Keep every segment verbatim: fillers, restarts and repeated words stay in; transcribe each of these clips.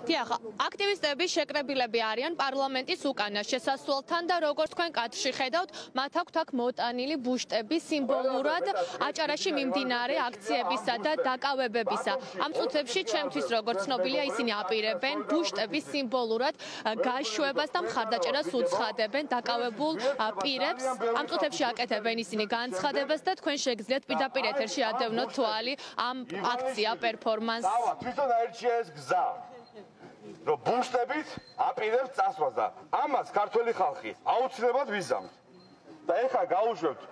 დიახ, აქტივისტები შეკრებილები არიან პარლამენტის უკანა შესასვლელთან და როგორც თქვენ კადრში ხედავთ, მათ აქვთ აქ მოტანილი ბუშტები სიმბოლურად აჭარაში მიმდინარე აქციებისა და დაკავებებისა. ამ წუთებში ჩემთვის როგორც ცნობილია ისინი აპირებენ ბუშტების სიმბოლურად გაშვებას და მხარდაჭერას უცხადებენ დაკავებულ პირებს. ამ წუთებში აკეთებენ ისინი განცხადებას და თქვენ შეგიძლიათ პირდაპირ ეთერში ადევნოთ თვალი ამ აქცია პერფორმანსს. თვითონ აირჩია ეს გზა. რომ ბუშტებით აპირებს წასვლას და ამას ქართველი ხალხი აუცილებლად ვიზამთ. და ეხლა გაუშვებთ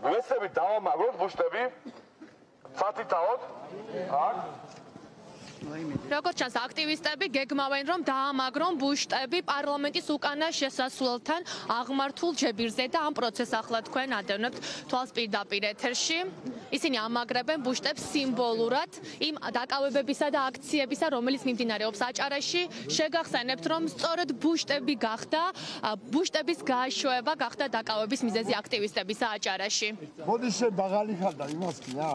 ვესებით დავამაგროთ ბუშტები. სათითაოდ აქ როგორც ჩანს აქტივისტები გეგმავენ რომ დაამაგრონ ბუშტები პარლამენტის უკანა შესასვლელთან აღმართულ ჯებირზე და ამ პროცესს ახლა თქვენ ადევნებთ თვალს პირდაპირ ეთერში. ისინი ამაგრებენ ბუშტებს სიმბოლურად იმ დაკავებებისა და აქციებისა, რომელიც მიმდინარეობს აჭარაში. შეგახსენებთ რომ სწორედ ბუშტები გახდა ბუშტების გაშვება გახდა დაკავების მიზეზი აქტივისტებისა აჭარაში. მოდის შე ბაღალი ხარ და იმას კი რა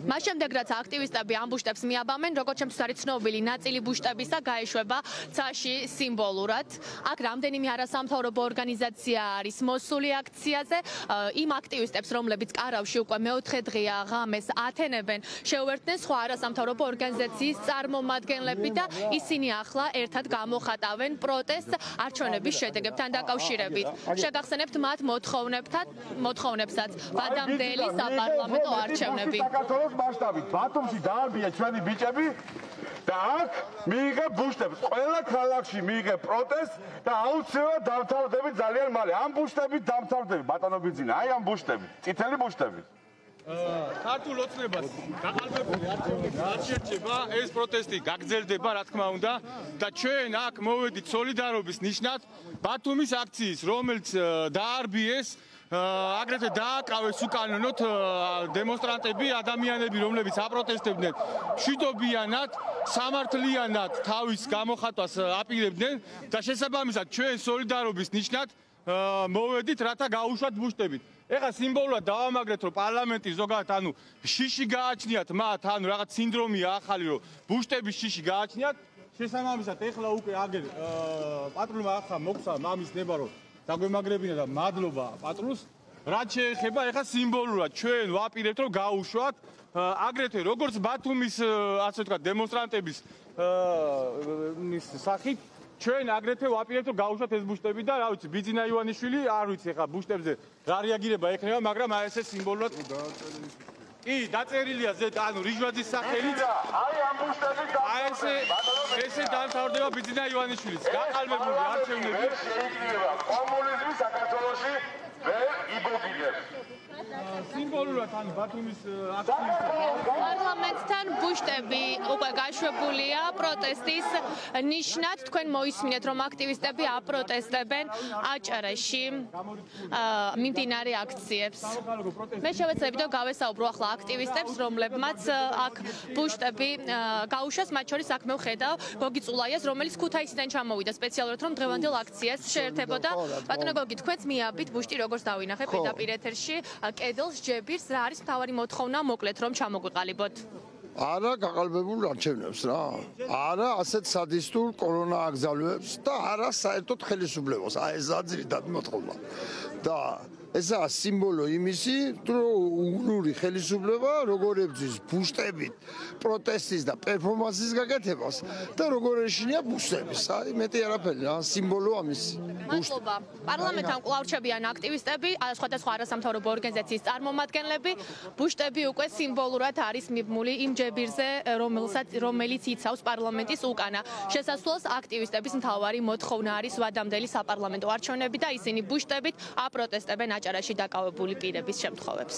მას შემდეგ რაც აქტივისტები ამ ბუშტებს მიაბამენ, როგორც ჩემთვის არის ცნობილი, ნაწილი ბუშტებისა გაეშვება ცაში სიმბოლურად. აქ რამდენიმე არასამთავრობო ორგანიზაცია არის მოსული აქციაზე. იმ აქტივისტებს, რომლებიც კარავში უკვე მეოთხე დღეა ღამეს ათენებენ, შეუერთდნენ სხვა არასამთავრობო ორგანიზაციის წარმომადგენლები და ისინი ახლა ერთად გამოხატავენ პროტესტს არჩევნების შედეგებთან დაკავშირებით. შეგახსენებთ მათ მოთხოვნებთან, მოთხოვნებსაც ვადამდელი საპარლამენტო არჩევნები. საქართველოს მასშტაბით ბათუმში დაარბია ჩვენი ბიჭები და აქ მიიღებ ბუშტებს. ყველა ქალაქში მიიღებ პროტესტს და აუცილებლად დამთავრდებით ძალიან მალე. ამ ბუშტებით დამთავრდებით ბატონო ბიძინა. აი ამ ბუშტებით, წითელი ბუშტებით. ქართულ ოცნებას გაყალბებული არჩევნები არ შეერჩება, ეს პროტესტი გაგრძელდება, რა თქმა უნდა, და ჩვენ აქ მოვედით სოლიდარობის ნიშნად ბათუმის აქციის, რომელიც დაარბიეს აგრეთვე დააკავეს უკანონოდ დემონსტრანტები, ადამიანები, რომლებიც აპროტესტებდნენ, მშვიდობიანად, სამართლიანად თავის გამოხატვას აპირებდნენ და შესაბამისად ჩვენ სოლიდარობის ნიშნად მოვედით, რათა გაუშვათ ბუშტებით. ეხლა სიმბოლურად დავამაგრეთ, რომ პარლამენტის ზოგადად ანუ შიში გააჩნიათ მათ, ანუ რაღაც სინდრომია ახალი, რომ ბუშტების შიში გააჩნიათ. შესაბამისად ეხლა უკვე აგერ პატრულმა ახლა მოგცა მამის ნება, რომ დაგვემაგრებინა და მადლობა პატრულს. რაც შეეხება ეხლა სიმბოლურად ჩვენ ვაპირებთ რომ გაუშვათ აგრეთვე როგორც ბათუმის ასე ვთქვათ დემონსტრანტების ის სახით ჩვენ აგრეთვე ვაპირებთ რომ გაუშვათ ეს ბუშტები და რა ვიცი ბიძინა ივანიშვილი არ ვიცი ეხლა ბუშტებზე რა რეაგირება ექნება, მაგრამ აი ესე სიმბოლურად კი დაწერილია ზედ ანუ რიჟვაძის სახელით აი ამ ბუშტებით აი ესე ესე დამთავრდება ბიძინა ივანიშვილის გაყალბებული არჩევნები. შეიძლება კომუნიზმი საქართველოში ვერ იბოგინებს. სიმბოლურად ანუ ბათუმის აქტივისტები პარლამენტთან ბუშტები უკვე გაშვებულია პროტესტის ნიშნად. თქვენ მოისმინეთ რომ აქტივისტები აპროტესტებენ აჭარაში მიმდინარე აქციებს. მე შევეცდები და გავესაუბრო ახლა აქტივისტებს, რომლებმაც აქ ბუშტები გაუშვეს, მათ შორის აქ მე ვხედავ გოგი წულაიას, რომელიც ქუთაისიდან ჩამოვიდა სპეციალურად რომ დღევანდელ აქციას შეერთებოდა. ბატონო გოგი, თქვენც მიაბით ბუშტი როგორც დავინახე პირდაპირ ეთერში კედელს ჯებირს, რა არის მთავარი მოთხოვნა მოკლედ რომ ჩამოგვიყალიბოთ? არა გაყალბებულ არჩევნებს რა. არა ასეთ სადისტურ კორონა აგზავნებს და არა საერთოდ ხელისუფლებას. აი ეს აძრიდად მოთხოვნა. და ესაა სიმბოლო იმისი, რომ უნური ხელისუფლება როგორ ებრძვის ბუშტებით პროტესტის და პერფორმანსის გაკეთებას და როგორ ეშინია ბუშტების. აი მეტი არაფერი რა, სიმბოლო ამისი. მადლობა. პარლამენტთან კვლავ რჩებიან აქტივისტები, სხვადასხვა არასამთავრობო ორგანიზაციის წარმომადგენლები. ბუშტები უკვე სიმბოლურად არის მიბმული იმ ჯებირზე, რომელსაც რომელიც იცავს პარლამენტის უკანა. შესასვლელს აქტივისტების მთავარი მოთხოვნა არის ვადამდელი საპარლამენტო არჩევნები და ისინი ბუშტებით აპროტესტებენ აჭარაში დაკავებული პირების შემთხვევებს.